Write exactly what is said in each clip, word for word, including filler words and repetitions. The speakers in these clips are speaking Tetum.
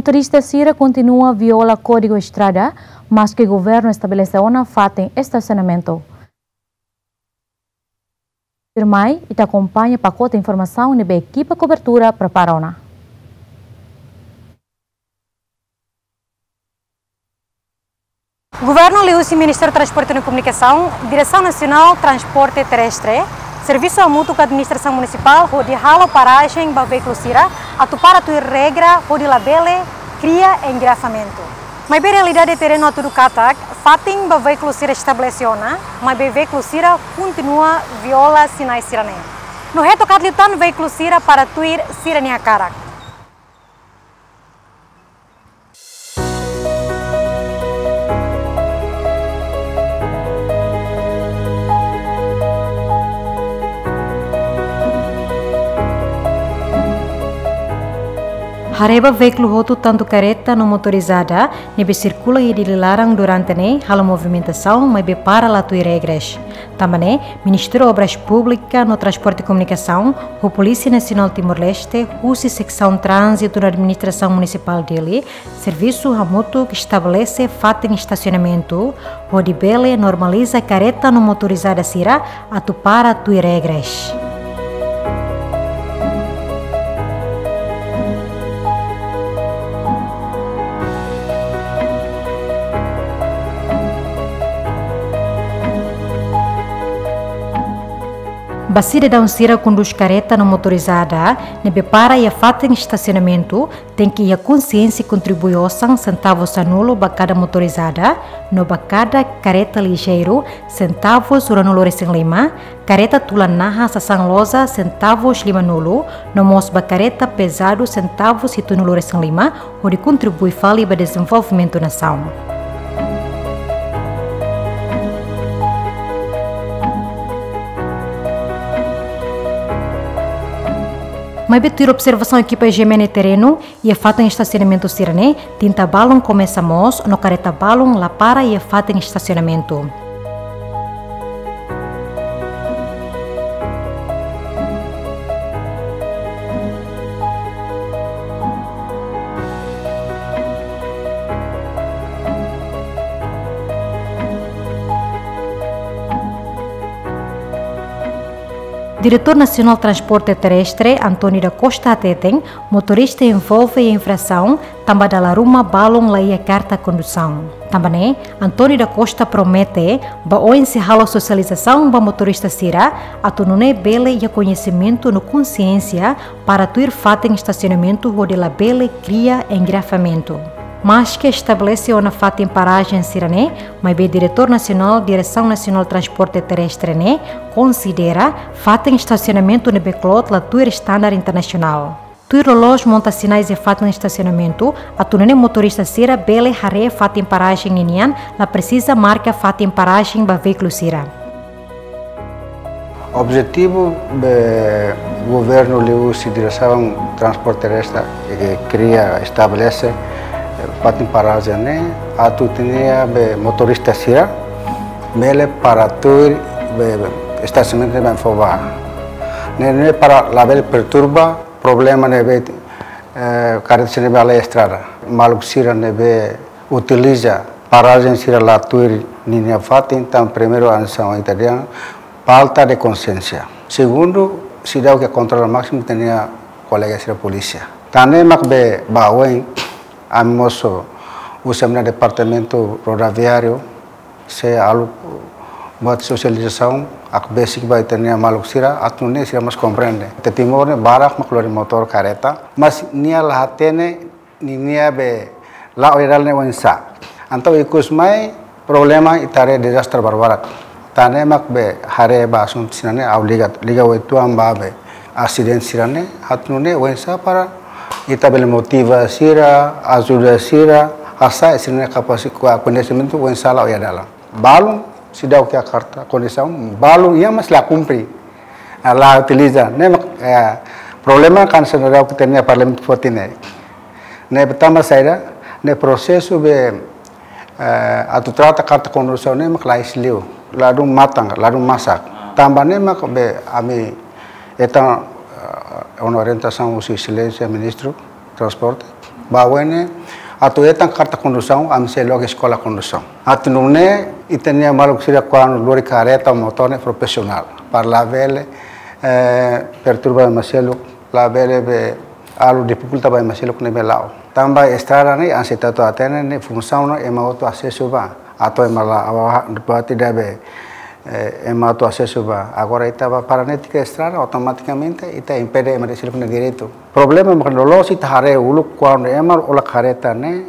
Turista sira kontinua viola Kódigu Estrada, maske governu estabelese ona fatin estasionamentu. Tuirmai, ita akompaña pakote informasaun ne'ebé ekipa kobertura prepara ona. Governu liuhusi Ministériu Transporte no Komunikasaun, Diresaun Nasionál Transporte Terrestre, servisu hamutuk ho Administrasaun Munisipál hodi halo parajen ba veíkulu sira atu para tuir regra hodi labele kria engarrafamentu. Maibé realidade terrenu hatudu katak, fatin ba veíkulu sira estabelese ona, maibé veíkulu sira kontinua viola sinais sira-ne'e. No heto katak liután veíkulu sira para tuir sira-nia hakarak. Haree ba veíkulu hotu tantu karreta no motorizada ne'ebé sirkula iha Dili laran durante ne'e halo movimentasaun maibé para la tuir regras. Tanba ne'e, Ministériu Obras Públikas no Transporte e Komunikasaun, ho Polísia Nasionál Timor-Leste, husi Seksaun Tránzitu no Administrasaun Munisipál Dili, servisu hamutuk estabelese fatin estasionamentu, hodi bele normaliza karreta no motorizada sira atu para tuir regras. Ba sidadaun sira kondús karreta no motorizada ne'ebé para iha fatin estasionamentu, tenke iha konsiénsia kontribui osan sentavus sanulu ba kada motorizada, no ba kada karreta lijeiru sentavus ruanulu-resin-lima, karreta tulan naha sasán loja sentavus limanulu, no mós ba karreta pezadu sentavus hitunulu-resin-lima, hodi kontribui fali ba dezenvolvimentu nasaun. Maibé tuir observasaun ekipa GMN terrenu, iha fatin estasionamentu sira-ne'e, tinta balun komesa moos, no karreta balun la para iha fatin estasionamentu. Diretór Nasionál Transporte Terrestre, António da Costa hateten, motorista envolve iha infrasaun, tanba dala ruma balun la iha karta kondusaun. Tanba ne'e, António da Costa promete, ba oin sei halo sosializasaun ba motorista sira, atu nune'e bele iha koñesimentu no konsiénsia para tuir fatin estasionamentu hodi labele kria engarrafamentu. Maske estabelese ona fatin parajen sira-ne'e, maibé Diretór Nasionál Diresaun Nasionál Transporte Terrestre ne'e konsidera fatin estasionamentu ne'ebé kloot la tuir standar internasionál. Tuir loloos monta sinais iha fatin estasionamentu, atu nune'e motorista sira bele haree fatin parajen ninian, la presiza marka fatin parajen ba veíkulu sira. Objetivu be governu liuhusi Diresaun Transporte Terrestre ke kria, estabelese, eh, fatin parajen ne'e atu ita-nia be motorista sira bele para tuir be, be estasionamentu ne'ebé fó ba. Ne'e, ne'e para labele perturba problema ne'ebé, eh, karreta sira ne'ebé halai estrada. Maluk sira ne'ebé utiliza parajen sira la tuir ninia fatin, entaun primeiru asaun ita dehan falta de konsiénsia. Segundu, seidauk kontrola másimu ita-nia kolega sira polísia. Tan ne'e mak be ba oin, ami mós husi ami-nia departamentu rodoviáriu, sei halo buat sosializasaun, hakbesik ba ita-nia maluk sira, atu nune'e sira mós komprende. Ita Timor ne'e barak mak lori motór, karreta, mas nia la hatene ninia be la'o iha dalan ne'e oinsá. Entaun ikus mai problema ita haree dezastre barbarak. Tan ne'e mak be haree ba asuntu sira-ne'e ha'u liga, liga uitoan ba be asidente sira-ne'e, atu nune'e oinsá para ita bele motiva sira, ajuda sira, hasa'e sira-nia kapasi-, ko-, koñesimentu oinsá la'o iha dalan. Balun seidauk iha karta kondusaun, balun iha mas la kumpre, la utiliza. Ne'e mak, eh, problema kan seidauk ita-nia Parlamentu foti ne'e. Ne'e be tanba saida, ne'e prosesu be, eh, atu trata karta kondusaun ne'e mak lais liu, ladún matan, ladún masak. Tanba ne'e mak be ami hetan, eh, ona orientasaun husi Exelénsia Ministru Transporte, Ba oin ne'e, atu hetan karta kondusaun, ami sei loke eskola kondusaun. Atu nune'e, ita-nia maluk sira kuandu lori kareta, motór ne'e profisionál. Para labele, eh, perturba ema seluk, labele be halo difikulta ba ema seluk ne'ebé la'o. Tanba estrada ne'e, hanesan ita hatene ne'e, funsaun ne'e ema hotu asesu ba. Atu ema la, awa, buat ida be, eh, ema hotu asesu ba. Agora ita ba para netik estrada, automatikamente ita impede ema seluk nia direitu. Problema mak loloos ita haree uluk kuandu ema hola kareta ne'e,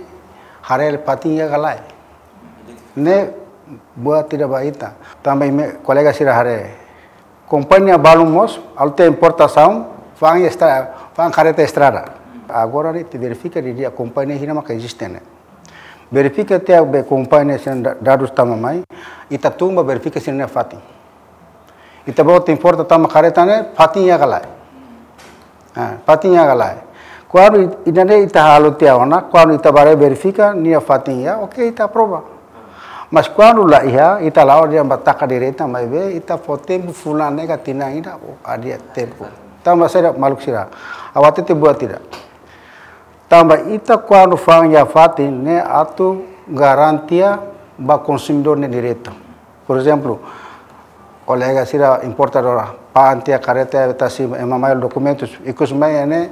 haree fatin iha ka lae. Ne'e buat ida ba ita. Tanba imi kolega sira haree. Kompañia balu mós, halo tiha importasaun, fa'an estra-, fa'an kareta estrada. Agora ne'e ita verifika didi'ak kompañia hira maka eziste ne'e. Verifika tiha be kompañia sira-nia da-, dadus tama mai, ita tun ba verifika sira-nia fatin. Ita-boot importa tama kareta ne'e, fatin iha ka lae. Ah, fatin iha ka lae. Kuandu it-, ida-ne'e ita halo tiha ona, kuandu ita bá verifika, nia fatin iha, oke, ita aprova. Mas kuandu la iha, ita la'o dehan ba taka direta, maibé, ita fó tempu fulan ne'e ka tinan ida, o, adia tempu. Tanba sira maluk sira. Ha'u hatete buat ida. Tanba ita kuandu fa'an iha fatin ne'e atu garantia ba konsumidór nia direitu. Por ezemplu, kolega sira importadora, fa'an tiha kareta tasi ema mai dokumentus, ikus mai ne'e,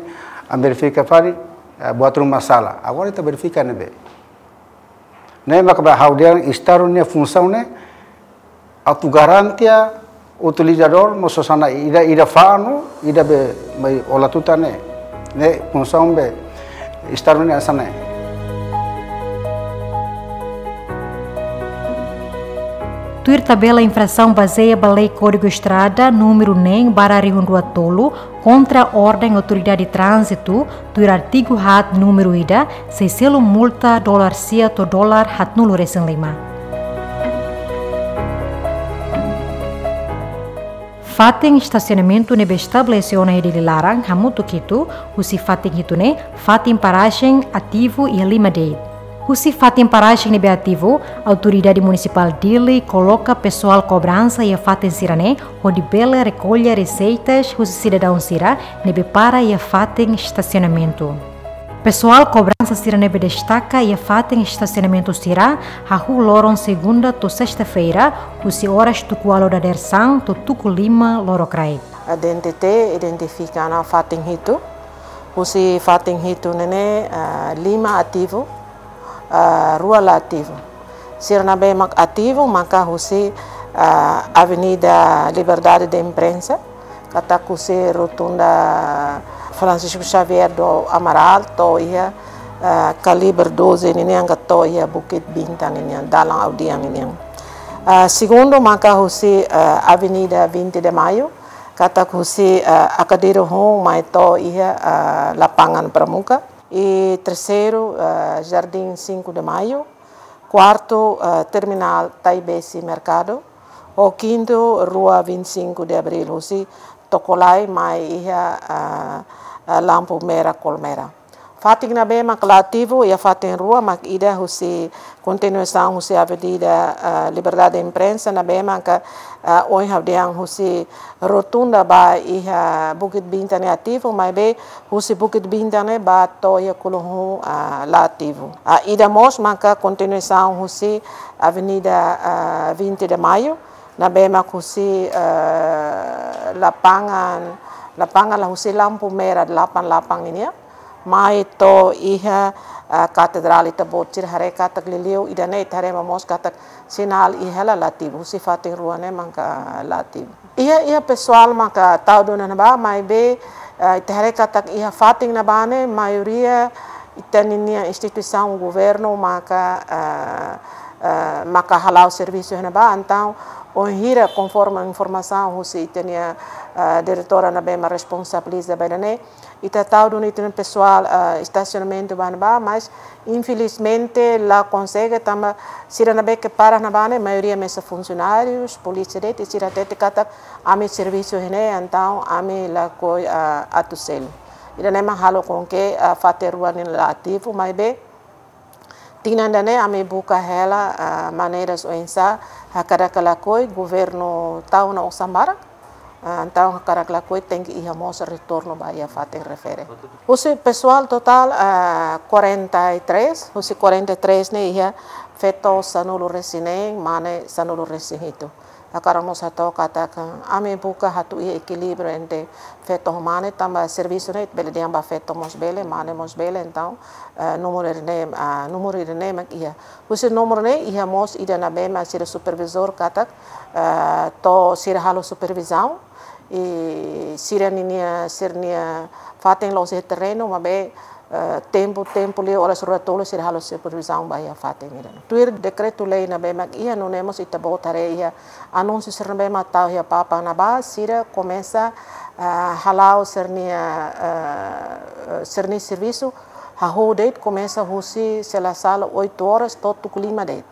ami verifika fali, eh, buat ruma sala. Agora ita verifika ne'ebé. Ne'e maka ba ha'u dehan Estadu nia funsaun ne'e, atu garantia utilizadór no sasana ida, ida fa'an no ida be mai hola tutan ne'e. Ne'e funsaun be Estadu nia hanesan ne'e. Tuir tabela infrasaun bazeia ba Lei Kódigu Estrada númeru neen barra rihun rua tolu, kontra orden Autoridade Tránzitu, tuir artigu haat númeru ida, sei selu multa dolar sia to'o dolar haatnulu resin lima. Fatin estasionamentu ne'ebé estabelese ona iha Dili laran, hamutuk hitu, husi fatin hitu ne'e, fatin parajen ativu iha lima de'it. Husi fatin parajen ne'ebé ativu, Autoridade Munisipál Dili koloka pesoál kobransa iha fatin sira-ne'e, hodi bele rekolla reseitas husi sidadaun sira ne'ebé para iha fatin estasionamentu. Pesoál kobransa sira ne'ebé destaka iha fatin estasionamentu sira, hahú loron segunda to'o sesta-feira, husi oras tuku ualu dadeer-saan to'o tuku lima lorokraik. A D N T T identifika ona fatin hitu, husi fatin hitu ne'e ne'e, ah, lima ativu, ah, rua la ativu. Sira ne'ebé mak ativu maka husi, ah, Avenida Liberdade de Imprensa, katak husi Rotunda Francisco Xavier do Amaral to'o iha, ah, Calibre doze ninian ka to'o iha Bukit Bintang ninian, dalan Audiang ninian. Ah, segundu maka husi, ah, Avenida Vinte de Maio, katak husi, ah, Akadiru hun mai to'o iha, ah, Lapangan Pramuka. I terseiru, ah, Jardim Cinco de Maio. Kuartu, ah, Terminál Taibesi Merkadu. Ho kintu, Rua Vinte e Cinco de Abril, husi Tokolai mai iha, ah, ah, lampu merah Colmera. Fatin ne'ebé mak la ativu, iha fatin rua, mak ida husi kontinuasaun husi Avenida, ah, Liberdade de Imprensa, ne'ebé maka, ah, ohin ha'u dehan husi Rotunda ba iha Bukit Bintang ne'e ativu, maibé husi Bukit Bintang ne'e ba to'o iha Kuluhun, ah, la ativu. Ah, ida mós maka kontinuasaun husi Avenida, ah, Vinte de Maio, ne'ebé mak husi, ah, lapangan, lapangan la husi lampu merah delapan delapan nian, mai to'o iha, ah, Katedrál, ita-boot sira haree katak liuliu ida-ne'e ita haree mós katak sinál iha la, la ativu, husi fatin rua ne'e maka la ativu. Iha, iha pesoál maka tau duni iha ne'ebá, maibé, ah, ita haree katak iha fatin ne'ebá ne'e maioria ita-nia instituisaun governu maka, ah, ah, maka hala'o servisu iha ne'ebá, entaun, bainhira konforme informasaun husi ita-nia, ah, diretora ne'ebé mak responsabiliza ba ida-ne'e, ita tau duni ita-nia pesoál, ah, estasionamentu ba ne'ebá, mas infelizmente la konsege tanba sira ne'ebé ke para ne'ebá ne'e maioria mesak funsionárius, polísia de'it, sira hatete katak ami servisu iha ne'e, entaun ami lakohi, ah, atu selu. Ida-ne'e mak halo com que, ah, fatin rua ne'e la ativu, maibé tinan ida-ne'e ami buka hela, ah, maneiras oinsá hakarak lakohi, governu tau ona osan barak, Ah, entaun hakarak lakohi tenke iha mós retornu ba iha fatin refere. Husi pesoál totál, ah, quarenta e três, husi quarenta e três ne'e iha feto sanulu-resin-neen, mane sanulu-resin-hitu. Hakarak mós hato'o katak ami buka atu iha ekilíbriu entre feto ho mane, tanba servisu ne'e bele dehan ba feto mós bele, mane mós bele, entaun, eh, númeru ida-ne'e, ah, númeru ida-ne'e mak iha. Husi númeru ne'e iha mós ida ne'ebé mak sira supervizór katak, eh, to'o sira halo supervizaun, i sira ninia, sira-nia fatin la'ós iha terrenu, maibé, eh, tempu, tempu liu oras rua tolu sira halo supervizaun ba iha fatin ida-ne'e. Tuir dekretu-lei ne'ebé mak iha, nune'e mós ita-boot haree iha anúnsiu sira ne'ebé mak tau iha papan ne'ebá, sira komesa, eh, hala'o sira-nia, eh, sira-nia servisu, hahú de'it komesa husi se la sala oito horas to'o tuku lima de'it.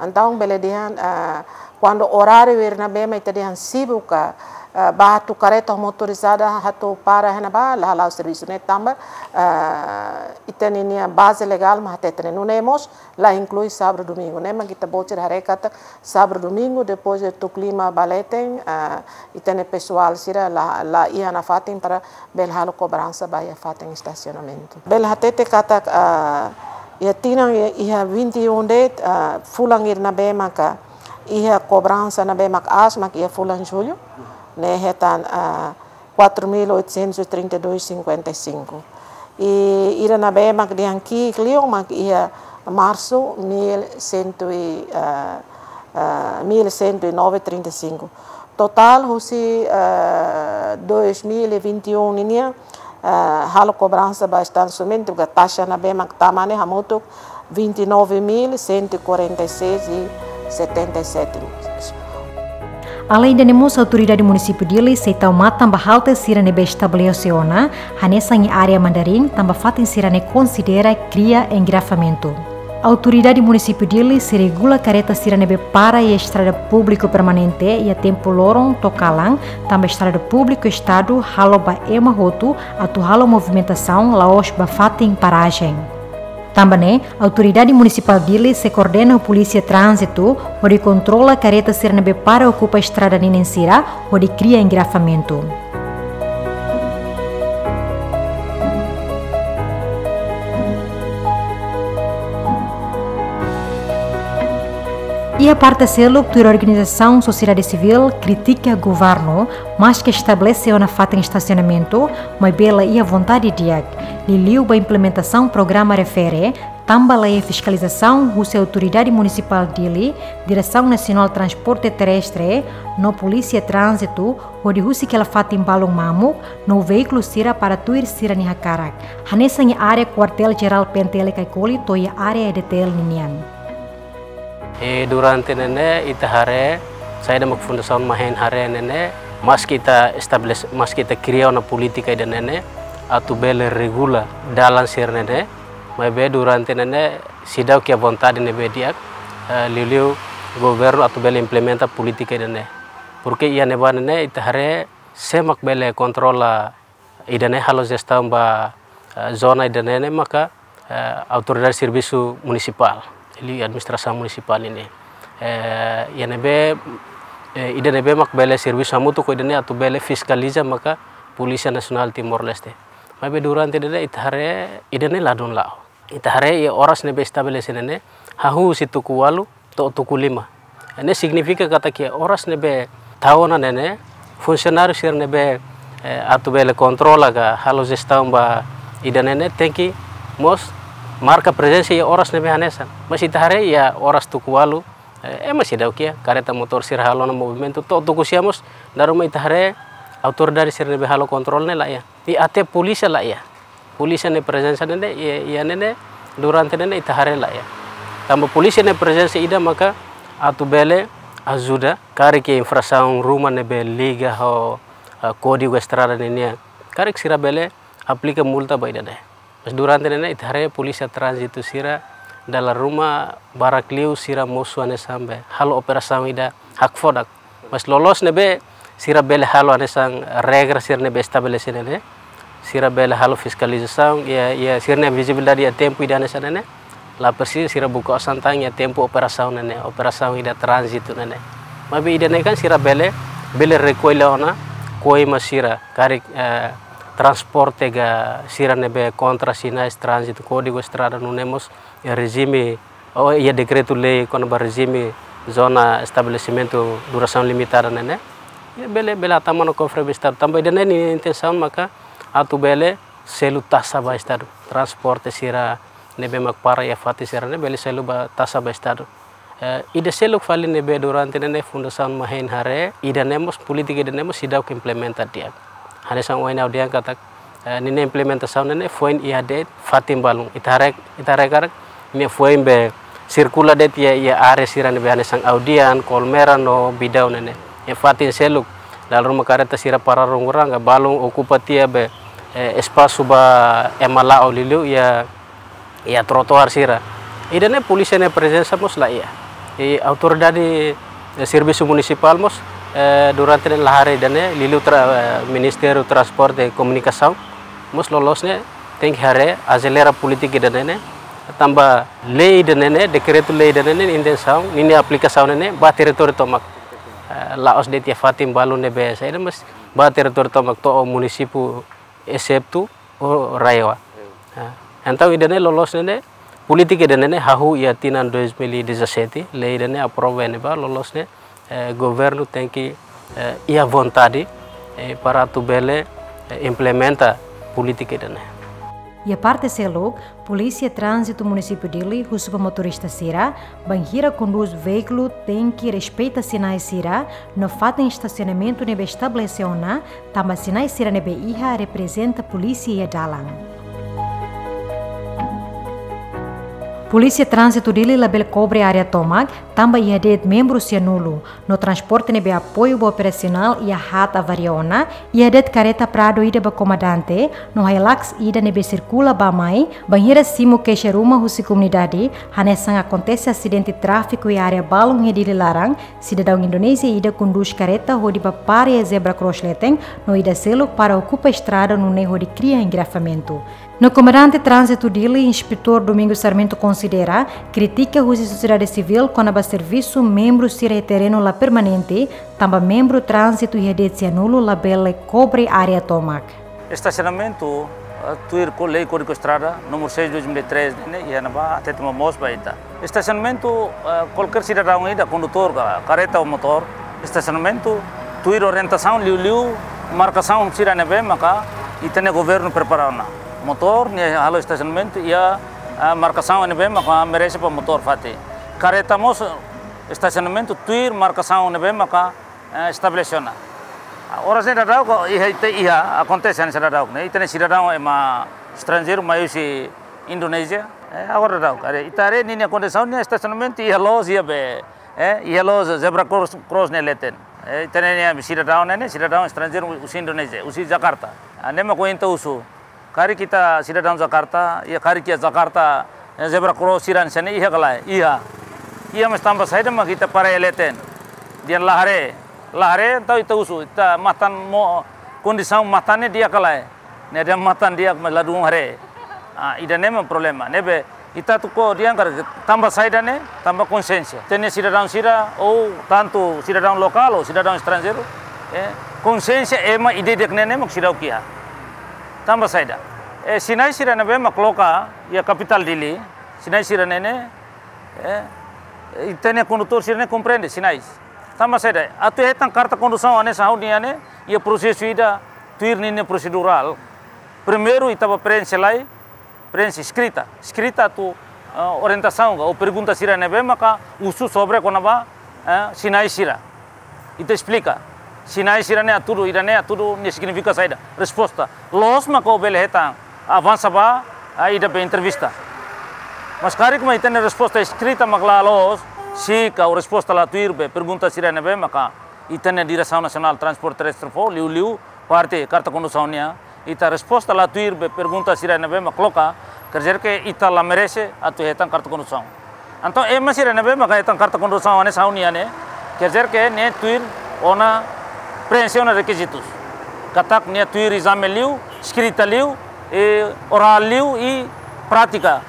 Entaun bele dehan, ah, kuandu oráriu ida ne'ebé mak ita dehan sibuk ka, ah, ba atu kareta motorizada atu para iha ne'ebá, la hala'o servisu ne'e tanba, ah, ita ninia baze legál mak hateten ne'e. Nune'e mós la inklui sábadu domingu. Ne'e mak ita-boot sira haree katak sábadu domingu, depois de tuku lima ba leten, ah, ita-nia pesoál sira la, la iha nafatin para bele halo kobransa ba iha fatin estasionamentu. Bele hatete katak, ah, iha tinan iha, iha vinte e um de'it, ah, fulan ida ne'ebé maka iha kobransa ne'ebé mak aas mak iha fulan Jullu, ne'e hetan, ah, quatro mil oitocentos e trinta e dois cinquenta e cinco. I ida ne'ebé mak dehan ki'ik liu mak iha Marsu mil cento e, ah, ah, mil cento e nove trinta e cinco. Totál husi, eh, dois mil e vinte e um ninian, eh, halo kobransa ba estasionamentu ka taxa ne'ebé mak tama ne'e hamutuk vinte e nove mil cento e quarenta e seis e setenta e sete. Além de ne'e mós, Autoridade Munisípiu Dili sei tau matan ba halte sira ne'ebé estabelese ona, hanesan iha área Mandarin, tanba fatin sira-ne'e konsidera kria engarrafamentu. Autoridade Munisípiu Dili sei regula kareta sira ne'ebé para iha estrada públiku permanente iha tempu loron to'o kalan, tanba estrada públiku Estadu halo ba ema hotu atu halo movimentasaun, la'ós ba fatin parajen. Tanba ne'e, Autoridade Munisipál Dili sei koordena ho Polísia Tránzitu hodi kontrola kareta sira ne'ebé para okupa estrada ninin sira hodi kria engarrafamentu. Iha parte seluk, tuir organizasaun sosiedade sivíl kritika governu, maske estabelese ona fatin estasionamentu, maibé la iha vontade di'ak, liuliu ba implementasaun programa refere, tanba la iha fiskalizasaun husi Autoridade Munisipál Dili, Diresaun Nasionál Transporte Terrestre, no Polísia Tránzitu, hodi husik hela fatin balun mamuk no veíkulu sira para tuir sira-nia hakarak, hanesan iha área Kuartél Jerál P N T L Caicoli to'o iha área E D T L ninian. E durante ne'e ne'e ita haree, saida mak Fundasaun Mahen haree ne'e ne'e, maske ita estabelese, maske ita kria ona polítika ida ne'e ne'e atu bele regula dalan sira ne'e ne'e, maibé durante ne'e ne'e seidauk iha vontade ne'ebé di'ak, eh, liuliu governu atu bele implementa polítika ida ne'e. Porke iha ne'ebá ne'e ne'e ita haree sé mak bele kontrola ida ne'e, halo jestaun ba, eh, zona ida ne'e ne'e maka, eh, Autoridade Servisu Munisipál, liuliu Administrasaun Munisipál ninian. Eh, iha ne'ebé, eh, ida ne'ebé mak bele servisu hamutuk ho ida ne'e atu bele fiskaliza maka Polísia Nasionál Timor-Leste. Maibé durante ida ne'e ita haree ida ne'e ladún la'o. Ita haree iha oras ne'ebé estabelese ne'e ne'e, hahú husi tuku ualu to'o tuku lima. Ne'e signifika katak iha oras ne'ebé tau ona ne'e ne'e, funsionáriu sira ne'ebé, eh, atu bele kontrola ka halo jestaun ba ida ne'e ne'e tenke mós marka prezensa iha oras ne'ebé hanesan. Mas ita haree iha oras tuku ualu, eh, ema seidauk iha, kareta motór sira halo ona movimentu, to'o tuku sia mós, dala ruma ita haree autoridade sira ne'ebé halo kontrol ne'e la iha. I até polísia la iha. Polísia nia prezensa ne'e ne'e, iha, iha ne'e ne'e, durante ne'e ne'e ita haree la iha. Tanba polísia nia prezensa ida maka atu bele ajuda, karik iha infrasaun ruma ne'ebé liga ho, ah, kódigu estrada ninian. Karik sira bele aplika multa ba ida ne'e. Mas durante ne'e ne'e ita haree Polísia Tránzitu sira dala ruma barak liu sira mosu hanesan be halo operasaun ida hakfodak. Mas loloos ne'ebé sira bele halo hanesan regra sira ne'ebé estabelese ne'e ne'e. Sira bele halo fiskalizasaun, iha, iha sira-nia vizibilidade iha tempu ida hanesan ne'e ne'e. La presiza sira buka osan tan iha tempu operasaun ne'e ne'e, operasaun ida tránzitu ne'e ne'e. Maibé ida ne'e kan sira bele, bele rekolla ona, Poema sira karik, eh, transporte ka sira ne'ebé kontra sinais tránzitu, kódigu estrada nune'e mós, eh, rejime, ou iha dekretu-lei kona-ba rejime zona estabelesimentu durasaun limitada ne'e ne'e. Iha bele, bele hatama ona kofre ba Estadu. Tanba ida-ne'e nia intensaun maka atu bele selu taxa ba Estadu. Transporte sira ne'ebé mak para iha fatin sira ne'e bele selu ba taxa ba Estadu. Eh, ida seluk fali ne'ebé durante ne'e ne'e Fundasaun Mahein haree, ida-ne'e mós polítika ida-ne'e mós seidauk implementa di'ak. Hanesan ohin ha'u dehan katak, eh, ninia implementasaun ne'e ne'e foin iha de'it fatin balun. Ita haree, ita haree karik, nia foin be sirkula de'it iha, iha área sira ne'ebé hanesan Audian, Colmera no Bidau ne'e ne'e. Iha fatin seluk, dala ruma kareta sira para rungurang, ka balun okupa tiha be, eh, espasu ba ema la'o liuliu iha iha trotoar sira. Ida-ne'e polísia nia prezensa mós la iha. I autoridade, eh, servisu munisipál mós, eh, durante ne'e la haree ida-ne'e, liuliu tra-, eh, Ministériu Transporte e Komunikasaun mós loloos ne'e tenke haree, azelera polítika ida-ne'e ne'e. Tanba lei ida-ne'e ne'e, dekretu-lei ida-ne'e ne'e, intensaun, ninia aplikasaun ne'e ne'e ba territóriu tomak. Eh, la'ós de'it iha fatin balun ne'ebé saida, mas ba territóriu tomak to'o munisípiu esetu o RAEOA. Ah, entaun ida-ne'e loloos ne'e ne'e, polítika ida-ne'e ne'e hahú iha tinan dois mil e dezassete, lei ida-ne'e aprova iha ne'ebá, loloos ne'e, eh, governu tenke, eh, iha vontade, eh, para atu bele, eh, implementa polítika ida-ne'e. Iha parte seluk, Polísia Tránzitu Munisípiu Dili husu ba motorista sira, bainhira kondús veíkulu tenke respeita sinais sira no fatin estasionamentu ne'ebé estabelese ona, tanba sinais sira ne'ebé iha reprezenta polísia iha dalan. Polísia Tránzitu Dili labele kobre área tomak, tanba iha de'it membru sira nulu, no transporte ne'ebé apoiu ba operasionál iha haat avaria ona, iha de'it kareta Prado ida ba komandante, no Hilux ida ne'ebé sirkula bá-mai, bainhira simu keixa ruma husi komunidade, hanesan akontese asidente tráfiku iha área balun iha Dili laran, sidadaun Indonézia ida kondús kareta hodi bá para iha zebra cross leten, no ida seluk para okupa estrada nune'e hodi kria engarrafamentu. No komandante tránzitu Dili, Inspetór Domingos Sarmento konsidera krítika husi sosiedade sivíl kona-ba servisu membru sira iha terrenu la permanente, tanba membru tránzitu iha de'it sira nulu labele kobre área tomak. Estasionamentu, eh, tuir ho lei Kódigu Estrada, númeru seis dois mil e três, ne'e, iha ne'ebá, hatete momoos ba ita. Estasionamentu, eh, kualkér sidadaun ida, kondutór ka kareta ou motór, estasionamentu tuir orientasaun liuliu markasaun sira ne'ebé maka ita-nia governu prepara ona. Motór nia halo estasionamentu iha, eh, markasaun ne'ebé maka merese ba motór fatin. Kareta mós estasionamentu tuir markasaun ne'ebé maka, eh, estabelese ona. Ah, oras ne'e daudaun iha, ita iha, akontese hanesan daudaun ne'e. Ita-nia sidadaun ema estranjeiru mai husi Indonézia. Eh, agora daudaun. Haree, ita haree ninia kondisaun nia estasionamentu iha loos iha be, eh, iha loos zebra cross, cross nia leten. Eh, ita-nia sidadaun ne'e, sidadaun estranjeiru husi Indonézia, husi Jakarta. Ah, ne'e mak ohin ita husu. Karik ita sidadaun Jakarta, iha karik iha Jakarta, eh, zebra cross sira-ne'e iha ka lae? Iha. Iha, mas tanba saida mak ita para iha leten? Dehan la haree. La haree, entaun ita husu, ita matan mós, kondisaun matan ne'e di'ak ka lae? Ne'e dehan matan di'ak, mas ladún haree. Ah, ida-ne'e mak problema. Ne'ebé ita atu ko'alia karik, tanba saida ne'e? Tanba konxiénsia. Ita-nia sidadaun sira, ou tantu sidadaun lokál ou sidadaun estranjeiru, eh, konxiénsia ema ida-idak ne'e ne'e mak seidauk iha. Tanba saida? Eh, sinais sira ne'ebé mak koloka iha kapitál Dili, sinais sira ne'e ne'e, eh, ita-nia kondutór sira ne'e komprende sinais. Tanba saida? Atu hetan karta kondusaun hanesan ha'u-nian ne'e, iha prosesu ida tuir ninia prosedurál. Primeiru ita bá preenxe lai, preenxe eskrita. Eskrita atu, eh, orientasaun ka, ou pergunta sira ne'ebé maka husu sobre kona-ba, eh, sinais sira. Ita esplika. Sinais sira ne'e hatudu, ida-ne'e hatudu, ne'e signifika saida? Resposta. Loos maka ó bele hetan, avansa ba, ah, ida be entrevista. Mas karik mak ita-nia resposta eskrita mak la loos, sika ou resposta la tuir be pergunta sira ne'ebé maka ita-nia Diresaun Nasionál Transporte Terrestre fó, liuliu parte karta kondusaun nian, ita resposta la tuir be pergunta sira ne'ebé mak koloka, quer dizer que ita la merese atu hetan karta kondusaun. Entaun ema sira ne'ebé mak hetan karta kondusaun hanesan ha'u-nian ne'e, quer dizer que nia tuir ona, preenxe ona rekizitus. Katak nia tuir ezame liu, eskrita liu, i orál liu, i prátika,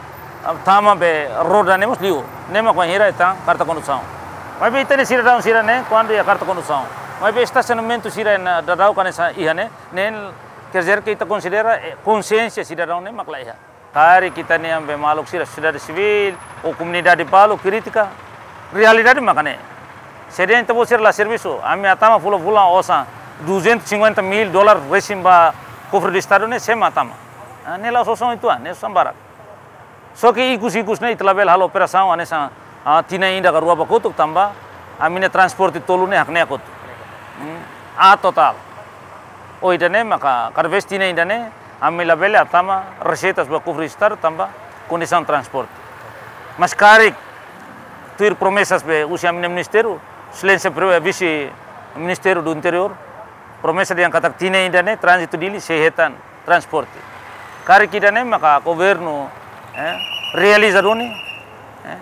ah, tama be roda ne'e mós liu. Ne'e mak bainhira hetan karta kondusaun. Maibé ita-nia sidadaun sira ne'e, kuandu iha karta kondusaun, Maibé estasionamentu sira ne'e daudaun hanesan iha ne'e, ne'e quer dizer que ita konsidera, eh, konsiénsia sidadaun ne'e mak la iha. Karik ita-nia maluk sira, sosiedade sivíl ou komunidade balu kritika, realidade mak ne'e. Se dehan ita-boot sira la servisu, ami hatama fulan-fulan osan duzentos e cinquenta mil dólar resin ba kofre do Estadu ne'e, sé mak hatama? Ah, ne'e la'ós osan uitoan, ne'e osan barak. Só que ikus-ikus ne'e ita labele halo operasaun hanesan, ah, tinan ida ka rua ba kotuk tanba ami-nia transporte tolu ne'e hakne'ak hotu. Hmm, aat totál. Ho ida-ne'e maka kada vez tinan ida-ne'e ami labele hatama reseitas ba kofre Estadu tanba kondisaun transporte. Mas karik tuir promesas be husi ami-nia ministériu, Exelénsia Pre-, Vise Ministru do Interiór, promesa dehan katak tinan ida-ne'e tránzitu Dili sei hetan transporte. Karik ida-ne'e maka governu, eh, realiza duni, eh,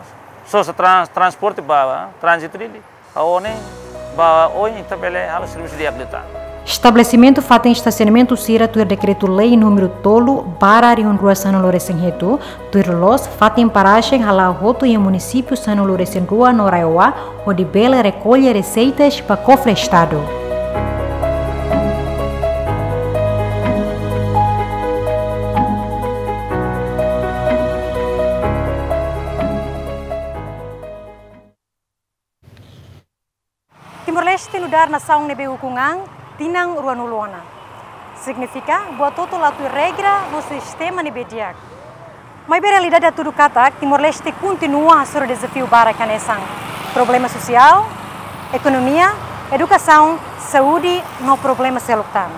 sosa trans-, transporte ba, eh, tránzitu Dili. Ha'u hanoin ba oin ita bele halo servisu di'ak liután. Estabelesimentu fatin estasionamentu sira tuir Dekretu-Lei númeru tolu barra rihun rua sanulu resin hitu, tuir loloos fatin parajen hala'o hotu iha munisípiu sanulu resin rua no RAEOA, hodi bele rekolla reseitas ba kofre Estadu. Timor-Leste nu'udar nasaun ne'ebé ukun an tinan ruanulu ona. Signifika buat hotu la tuir regra no sistema ne'ebé di'ak. Maibé realidade hatudu katak Timor-Leste kontinua hasoru dezafiu barak hanesan problema sosiál, ekonomia, edukasaun, saúde no problema seluk tan.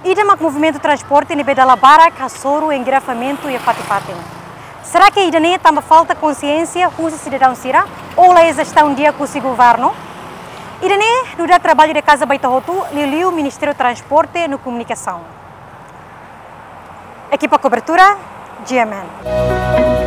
Ida mak movimentu transporte ne'ebé dala barak hasoru engarrafamentu iha fatin-fatin. Será que ida-ne'e tanba falta konsiénsia husi sidadaun sira ou la iha jestaun di'ak husi governu? Ida-ne'e nu'udar traballu de kaza ba ita hotu, liuliu Ministériu Transporte no Komunikasaun. Ekipa kobertura, G M N.